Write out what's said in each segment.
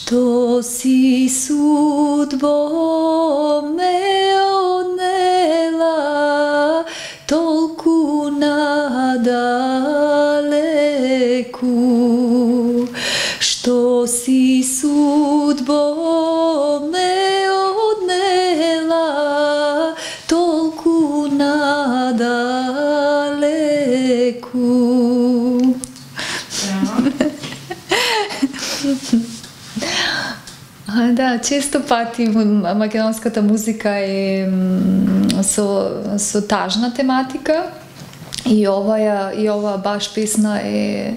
Што си судбо ме однела толку надалеку, што си судбо ме однела толку надалеку. Да, често пати македонската музика е со тажна тематика и ова баш песна е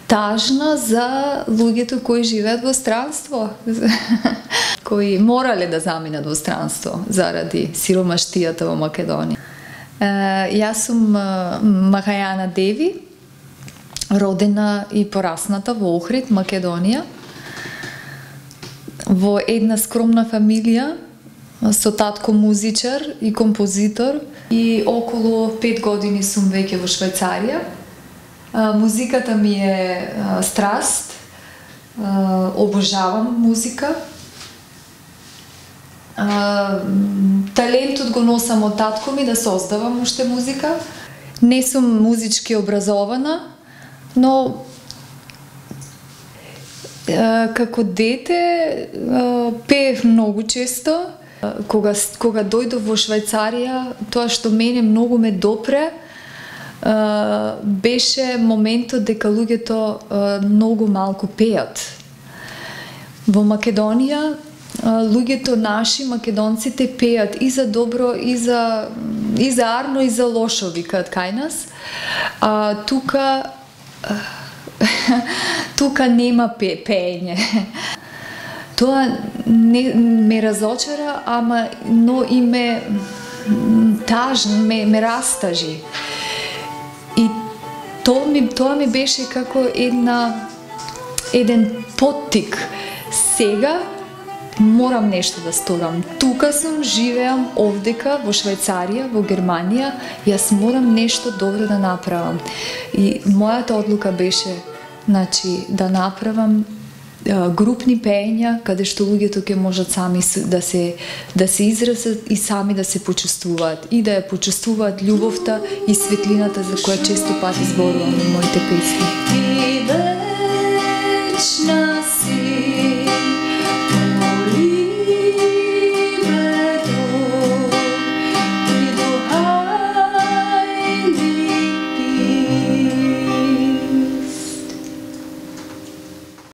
тажна за луѓето кои живеат во странство, кои морале да заминат во странство заради сиромаштијата во Македонија. Јас сум Махајана Деви, родена и порасната во Охрид, Македонија, во една скромна фамилија со татко музичар и композитор, и околу 5 години сум веќе во Швајцарија. Музиката ми е страст, обожавам музика. Талентот го носам од татко ми да создавам уште музика. Не сум музички образована, но како дете пеев многу често. Кога дојдов во Швајцарија, тоа што мене многу ме допре беше моментот дека луѓето многу малку пеат. Во Македонија луѓето наши, македонците, пеат и за добро, и за арно, и за лошо, викаат кај нас. Тука нема пеење. Тоа ме разочара, но и ме растажи. И тоа ми беше како еден поттик. Сега морам нешто да сторам. Тука сум, живеам овдека во Швајцарија, во Германија, јас морам нешто добро да направам. И мојата одлука беше, да направам групни пеења, каде што луѓето ќе можат сами да се изразат и сами да се почувствуваат, и да ја почувствуваат љубовта и светлината за која често пати зборувам во моите песни.